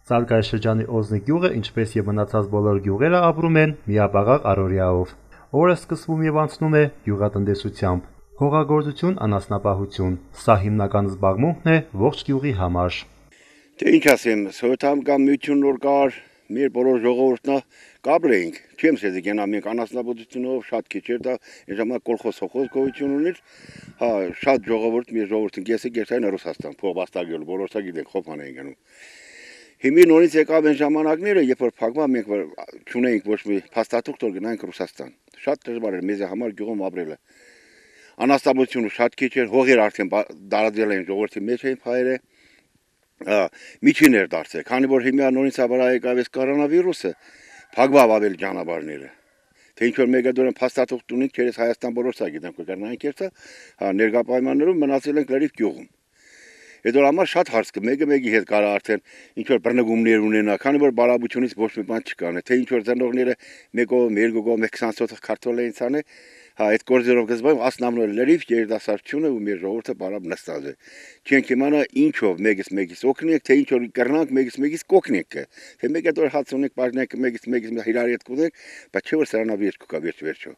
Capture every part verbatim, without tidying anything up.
Ծալկայշրջանի Օզնի գյուղը, ինչպես եւ մնացած բոլոր գյուղերը, ապրում են միաբաղաղ առօրյայով։ Օրը սկսվում եւ անցնում է գյուղատնտեսությամբ։ Հողագործություն, անասնապահություն։ Սա հիմնական զբաղմունքն է ողջ գյուղի համար։ Թե ինչ ասեմ, սովետամ կամ միություն նոր կար, մեր բոլոր ժողովուրդն կապրեինք։ Չեմ ասեցի գնա մենք անասնապահությունով շատ քիչ էր դա, այն ժամանակ կոլխոզ սոխոզ գոյություն ուներ։ Հա, շատ ժողովուրդ, մեր ժողովուրդն գեսի գերտային Ռուսաստան, փողբաստակյալ, բոլորսա գիտենք խոփան էին գնում։ Հիմի նորից եկավ այն ժամանակները, երբ որ փակվա մենք չունեինք ոչ մի փաստաթուղթ, որ գնանք Ռուսաստան։ Շատ դժվար էր մեզ համար գյուղում ապրելը։ Անասնապահությունը շատ քիչ էր, հողեր արդեն դարաձել էին ժողովրդի մեջ էին փայերը։ Միջին էր դարձել, քանի որ հիմա նորից ավարա եկավ այս կորոնավիրուսը, փակվավ ավելի ճանապարհները։ Թե ինչ որ մեգադորեն փաստաթուղթ ունենք, չերես Հայաստան բոլորսա գիտենք, որ գնանք երթա, հա ներկա պայմաններում մնացել ենք լրիվ գյուղում։ Այդ որ համար շատ հարց կա, մեկը մեկի հետ կարա արդեն ինչ որ բռնկումներ ունենա, քանի որ բարաբությունից ոչ մի բան չկան, թե ինչ որ ծնողները մեկով, երկու, մեկ քսան սոթ քարտոլ էին ցանը, հա այդ գործերով գզբայում ասնամնոր լրիվ երիտասարդությունը ու մեր ժողովուրդը բարավ նստած է։ Չենք իմանա ինչով մեկից մեկից օգնենք, թե ինչ որ կռնանք մեկից մեկից կօգնենք, թե մեկը դեռ հաց ունենք, բաժնենք մեկից մեկից իրար հետ կուզենք, բայց չէ որ սրանավիճ կա վերջ վերջո։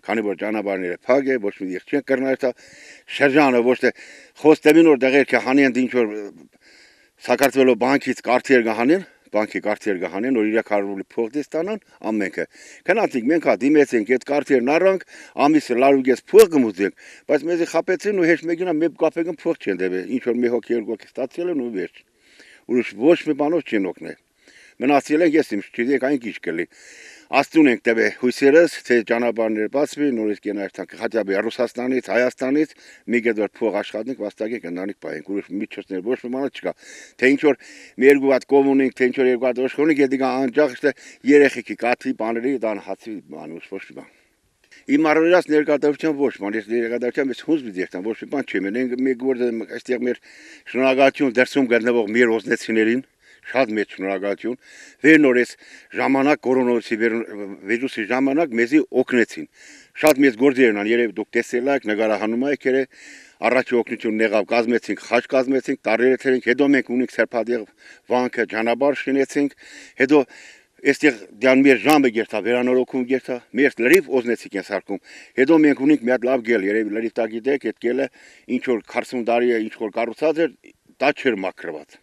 Քանի որ ճանապարհները փակ է, ոչ մի դեղ չեն կռնել, դա շրջանը ոչ թե խոստեմին որ դեղեր կհանեն ինչ որ Սակարթվելով բանկից կարտեր կհանեն, բանկի կարտեր կհանեն, որ իրեք հարյուր ռուբլի փող դստանան ամենքը։ Քանացիկ մենք հա դիմեցինք այդ կարտերն առանք, ամիսը լարուգես փող կմուծենք, բայց մեզի խապեցին ու հեշտ մեկինա մեկ կապեկն փող չեն դեպի, ինչ որ մի հոգի երկու հոգի ստացել են ու վերջ։ Ուրիշ ոչ մի բանով չեն օգնել։ Մնացել են ես իմ չգիտեք այն քիչ կլի։ Աստուն ենք դեպի հույսերս, թե ճանապարհները բացվի, նորից կենայրտանք հատյաբի Ռուսաստանից, Հայաստանից, մի գեդոր փող աշխատենք, վաստակի կնանիք պայենք, ուրիշ միջոցներ ոչ մի բան չկա։ Թե ինչ որ մի երկու հատ կոմունիկ, թե ինչ որ երկու հատ աշխոնիկ, դիգա անջախ թե երեխեքի կաթի բաների դան հացի բան ոչ մի բան։ Իմ առօրյաս ներկայացության ոչ բան, ես ներկայացության ես հուզ բիդեքտան ոչ մի բան չեմ, մենք մի գործը այստեղ մեր շնորհակալություն դերսում գտնվող մեր օզնեցիներին շատ մեծ շնորհակալություն, վեր նորից ժամանակ կորոնավիրուսի վիրուսի ժամանակ մեզի օգնեցին։ Շատ մեծ գործեր են, երևի դուք տեսել եք, նկարահանում եք երե, առաջի օգնություն եղավ, կազմեցինք, խաչ կազմեցինք, տարերը թերենք, հետո մենք ունենք Սերփադեղ վանքը ճանապարհ շինեցինք, հետո այստեղ դյան մեր ժամը գերտա, վերանորոգում գերտա, մեր լրիվ օզնեցիկ են սարքում։ Հետո մենք ունենք մի հատ լավ գել, երևի լրիվ տա գիտեք, այդ գելը ինչ որ քսուն տարի է, ինչ որ կառուցած էր, դա չէր մաքրված։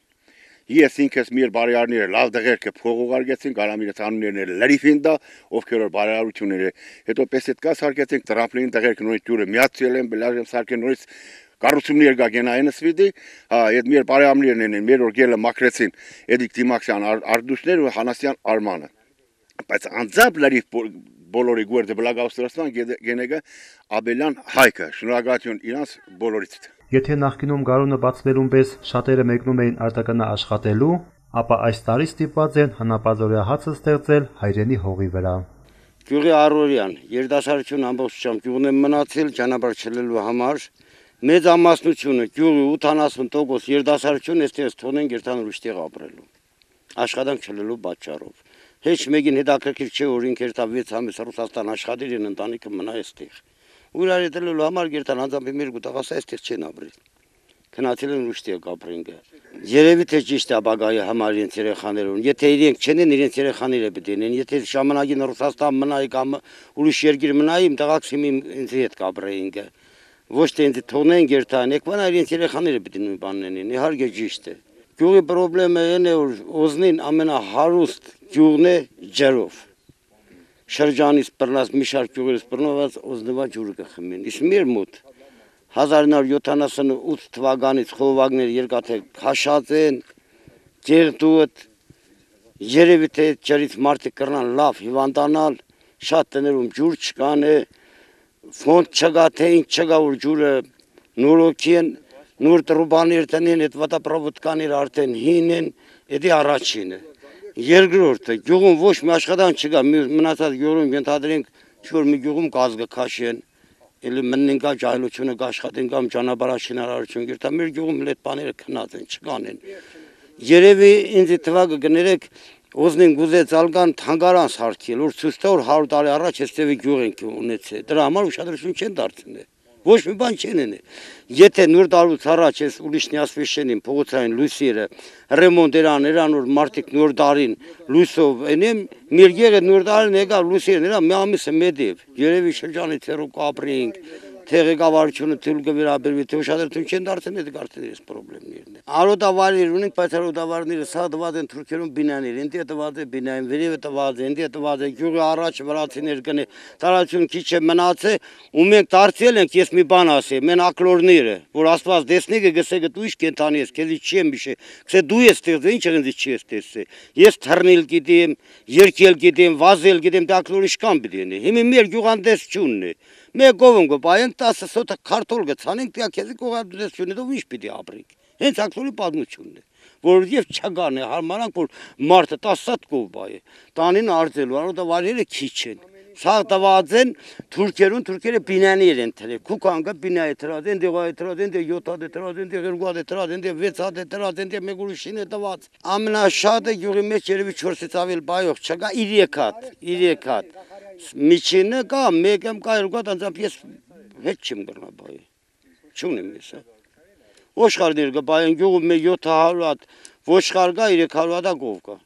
Ես ինքս մեր բարերարները լավ դեղերքը փող ուղարկեցին, կարամիրը ցանուներները լրիվին դա, ովքեր որ բարերարությունները, հետո պես այդ կա սարքեցինք տրամպլին դեղերքը նորից ջուրը միացել են, բլաժեմ սարքեն նորից կառուցումներ կա գենայինս վիդի, հա, այդ մեր բարերարներն են, մեր որ գելը մաքրեցին, Էդիկ Դիմաքսյան Արդուշներ ու Հանասյան Արմանը։ Բայց անձամբ լրիվ բոլորի գորդը բլագաուստրաստան գենեգա Աբելյան Հայկը, շնորհակալություն իրանց բոլորից։ Եթե նախկինում գարունը բացվելուն պես շատերը մեկնում էին արտականա աշխատելու, ապա այս տարի ստիպված են հնապազօրյա հացը ստեղծել հայրենի հողի վրա։ Գյուղի առօրյան, երիտասարդություն ամբողջությամբ գյուղն է մնացել ճանապարհ չլելու համար, մեծ ամասնությունը գյուղի ութանասուն տոկոս երիտասարդություն այստեղ թողնեն գերտան ուրիշտեղ ապրելու։ Աշխատանք չլելու պատճառով։ Հեչ մեկին հետաքրքիր չէ, որ ինքը երթա վեց ամիս Ռուսաստան աշխատիր են ընտանիքը մնա այստեղ։ Ուրար դելու համար գերտան անձամբ մեր գուտաղասա այստեղ չեն ապրել։ Քնացել են ուրիշտեղ ապրեն գա։ Երևի թե ճիշտ է ապագայի համար իրենց երեխաներուն։ Եթե իրենք չեն, իրենց երեխաները պետք են։ Եթե ժամանակին Ռուսաստան մնայի կամ ուրիշ երկիր մնայի, իմ տղաս հիմի ինձ հետ կապրեին գա։ Ոչ թե ինձ թողնեն գերտան, եկվան իրենց երեխաները պետք են բանն են։ Իհարկե ճիշտ է։ Գյուղի խնդրեմը այն է, որ Օզնին ամենահարուստ գյուղն է ջրով։ Շրջանից բռնած մի շարք գյուղերից բռնված Օզնվա ջուրը կխմեն։ Իսկ մեր մոտ հազար նոր յոթանասունութ թվականից խողովակներ երկաթե քաշած են, ջերտուտ, երևի թե ջրից մարդիկ կռնան լավ հիվանդանալ, շատ տներում ջուր չկան է, ֆոնդ չկա, թե ինչ չկա, որ ջուրը նորոգի են, նոր տրուբաներ տնեն, այդ վատապրովոդկաներ արդեն հին են, էդի առաջինը։ Երկրորդը, գյուղում ոչ մի աշխատանք չկա, մնացած գյուղում ենթադրենք, չոր մի գյուղում գազ կքաշեն, էլի մննեն կա ջահելությունը կաշխատեն կամ ճանապարհաշինարարություն գերտա, մեր գյուղում էլ այդ բաները քնած են, չկան են։ Երևի ինձ թվակը գներեք Օզնին գուզեց ալկան թանգարան սարքել, որ ցույց տա որ հարյուր տարի առաջ էստեղի գյուղ ենք ունեցել։ Դրա համար ուշադրություն չեն դարձնել։ Ոչ մի բան չեն անի։ Եթե նոր տարուց առաջ ես ուրիշնի ասվեշենին փողոցային լույսերը ռեմոնտեր աներան որ մարդիկ նոր տարին լույսով ենեմ միրգերը նոր տարին եկա լույսերը նրա մի ամիսը մեդիվ երևի շրջանի ցերու կապրինգ Թեղեկավարությունը թույլ կվերաբերվի, թե ուշադրություն չեն դարձել, դա կարծես այս խնդիրներն են։ Արոտավարներ ունենք, բայց արոտավարները սա տված են թուրքերուն բինաներ, ինտե տված է բինային, վերևը տված է, ինտե տված է գյուղի առաջ վրացիներ կնե, տարածություն քիչ է մնացել, ու մենք դարձել ենք, ես մի բան ասեմ, մեն ակլորները, որ Աստված դեսնի կգսե գտու իշ կենթանի ես, քեզի չի եմ իշե, քսե դու ես ստեղծել, ինչ եղնձի չի ես տեսել։ Ես թռնել գիտեմ, երկել գիտեմ, վազել գիտեմ, դա ակլոր իշքան պիտի լինի։ Հիմա մեր գյուղանդես չունն է։ Մեկ ով ընկո բայենք տասը սոտը քարտոլ գցանենք, դիա քեզի գողադրությունը դու ինչ պիտի ապրենք։ Հենց ակլորի պատմությունն է, որ եւ չգան է հարմանանք, որ մարդը տասը սատ կով բայ է։ Տանին արձելու, արոտավարերը քիչ են։ Սա տված են թուրքերուն, թուրքերը բինաներ են թրել, քուքանգը բինա է թրած, են դեղա է թրած, են դե յոթ հատ է թրած, են դե երկու հատ է թրած, են դե վեց հատ է թրած, են դե մեկ ուրիշին է տված։ Ամենաշատը գյուղի մեջ երևի չորսից ավել բայող չկա, երեք հատ, երեք հատ։ Միջինը կա, մեկ եմ կա, երկու հատ անձամբ ես հետ չեմ գրնա բայ։ Չունեմ ես։ Ոշխարներ կա բայեն գյուղում մի յոթ հարյուր հատ, ոշխար կա, երեք հարյուր հատ գով կա։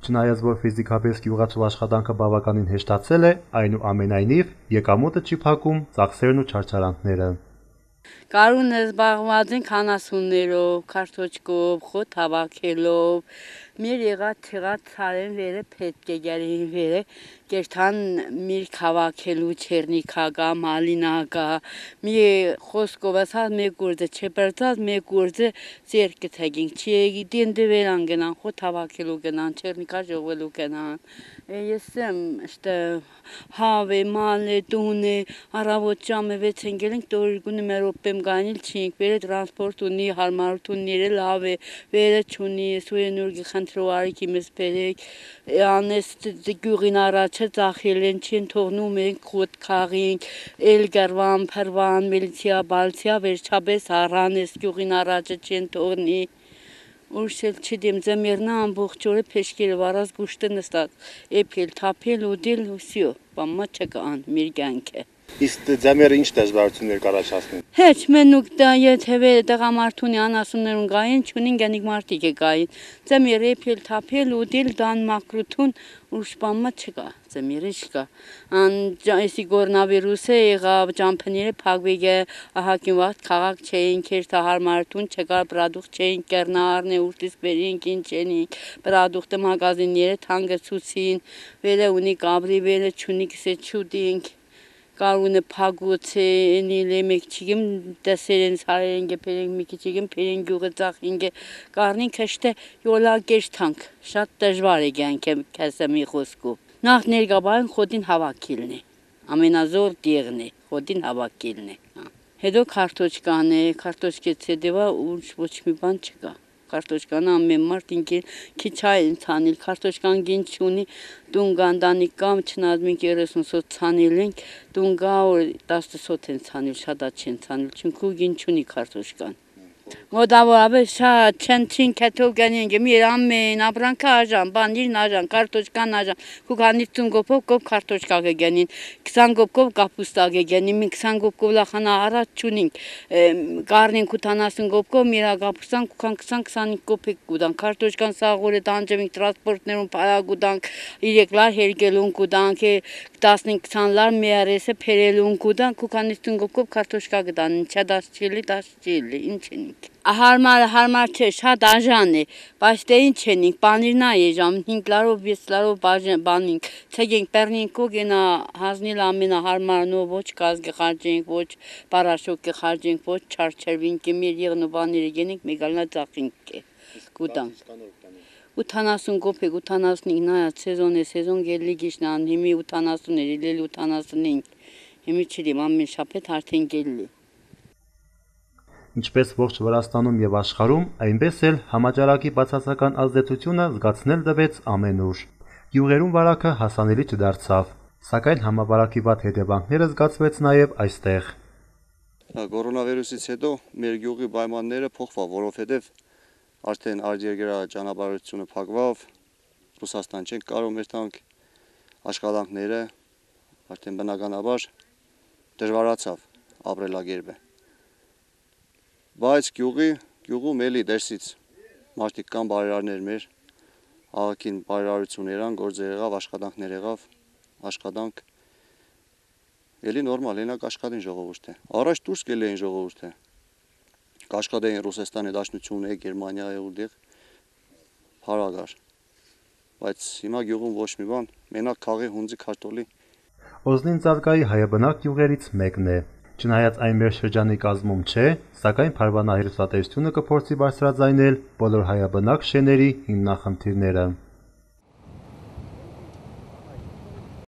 Չնայած որ ֆիզիկապես գյուղացու աշխատանքը բավականին հեշտացել է, այնուամենայնիվ եկամուտը չի փակում ծախսերն ու չարչարանքները։ Կարունը զբաղված ենք հանասուններով, քարտոճկով, խոտ հավաքելով, մեր եղած թեղած ցարեն վերը պետք է գերին վերը, կերթան մեր հավաքելու չերնիկագա, մալինագա, մի խոսքով ասած մեկ գործը չբրծած, մեկ գործը ձերքը թագինք, չի գիտեն դվերան գնան, խոտ հավաքելու գնան, չերնիկա ժողվելու գնան։ Ես եմ işte հավե, մալե, տունե, առավոտ ժամը վեց ընկել ենք, տորգունը մեր օպեմ գանիլ չինք, վերը տրանսպորտ ունի, հարմարությունները լավ է, վերը չունի, սույնուրգի խնդրուարիքի մեզ բերեք, անես գյուղին առաջը ծախել են, չեն թողնում ենք խոտ քաղինք, էլ գարվան, փրվան, միլիցիա, բալցիա, վերջապես առանես գյուղին առաջը չեն թողնի, Ուրշել չդեմ ձմերնա ամբողջ օրը փեշկել վարած գուշտը նստած, էփել, թափել, ուդել ու սյո, բամա չկան, մեր կյանքը։ Իսկ ձմերը ինչ դժվարություններ կառաջացնեն։ Հեչ մենուկ դա եթե տղամարդունի անասուններուն գային, չունին գանիկ մարդիկ է գային։ Ձմերը էփել, թափել, ուդել, դան մակրութուն ուրշպամա չկա, ձմերը չկա։ Ան այսի կորոնավիրուսը եղավ, ճամփները փակվեգը, ահակին վաղ քաղաք չէին, քերթա հարմարություն չկա, պրոդուկտ չէին, կերնարն է ուրտից բերինք, ինչ ենինք, պրոդուկտը մագազինները թանգեցուցին, վերը ունի կաբրի, վերը չունի կսե չուդինք։ Կարունը փագուց էնիլե մեկ չիգեմ դասերեն սարերեն գեփերեն մի քիչիգեմ փերեն գյուղը ծախինգե կարնին քշտե յոլա գերթանք շատ դժվար է կյանքը քասամի խոսքով նախ ներգաբան խոդին հավաքիլն է ամենազոր դիղն է խոդին հավաքիլն է հետո քարտոճկան է քարտոճկից հետո ոչ ոչ մի բան չկա Քարտոճկանը ամեն մարդ ինքին քիչ այն ցանել քարտոճկան գին չունի դունգանդանի կամ չնազմին երեսուն սոց ցանել ենք դունգա տասը սոց են ցանել շատ չեն ցանել չունքու գին չունի քարտոճկան Մոդավորապես շատ չեն քաթոգանին գմիր ամեն ապրանքը աժան բանիրն աժան քարտոճկան աժան քուքանիցուն գոփով կոփ քարտոճկա գանին քսան գոփով կապուստա գանին մի քսան գոփով լախանա առաջ չունինք կարնին քութանասուն գոփով միրա կապուստան քուքան քսան քսանինք գոփիկ գուդան քարտոճկան սաղորը դանջեմիկ տրանսպորտներուն փարագուդանք իրեկլար հերգելուն գուդանք տասնինք քսան լար միարեսը փերելուն գուդան քուքանիցուն գոփով քարտոճկա գդան ինչա դաս չիլի դաս չիլի ինչ Հարմար հարմար չէ, շատ աժան է, բայց դե ինչ ենինք, բանիրն է ժամ, հինգ լարով, վեց լարով բանինք, ցեգենք պեռնինք ու գենա հանձնել ամենահարմարն ու ոչ գազգը խարջենք, ոչ պարաշոկը խարջենք, ոչ չարչերվինք, մեր եղնու բաները գենենք, մեգալնա ծախինք է, գուտանք։ ութանասուն գոփեք, ութանասունինք նայա սեզոն է, սեզոն գելի գիշնան, հիմի ութանասուն էր, իլել ութանասունինք, հիմի չիլիմ ամեն շապետ արդեն գելի Ինչպես ողջ Վրաստանում եւ աշխարհում, այնպես էլ համաճարակի բացասական ազդեցությունը զգացնել տվեց ամենուր։ Գյուղերում վարակը հասանելի չդարձավ, սակայն համավարակի վատ հետևանքները զգացվեց նաեւ այստեղ։ Կորոնավիրուսից հետո մեր գյուղի պայմանները փոխվավ, որովհետեւ արդեն արտերգերա ճանապարհությունը փակվավ, Ռուսաստան չենք կարող մեր տանք աշխատանքները արդեն բնականաբար դժվարացավ։ ապրելակերպ է։ Բայց գյուղի, գյուղում էլի դերսից մարդիկ կան բարերարներ մեր, աղաքին բարերարություն երան, գործեր եղավ, աշխատանքներ եղավ, աշխատանք, էլի նորմալ, ենակ աշխատին ժողովուրդ է։ Առաջ դուրս գել էին ժողովուրդ է, կաշխատեին Ռուսաստանի Դաշնություն է, Գերմանիա է ուդեղ, հարագար, բայց հիմա գյուղում ոչ մի բան, մենակ քաղի հունձի քարտոլի։ Օզնին Ծալկայի հայաբնակ գյուղերից մեկն է։ Չնայած այն մեր շրջանի կազմում չէ, սակայն Փարվանահերուսատեսությունը կփորձի բարձրաձայնել բոլոր հայաբնակ շեների հիմնախնդիրները։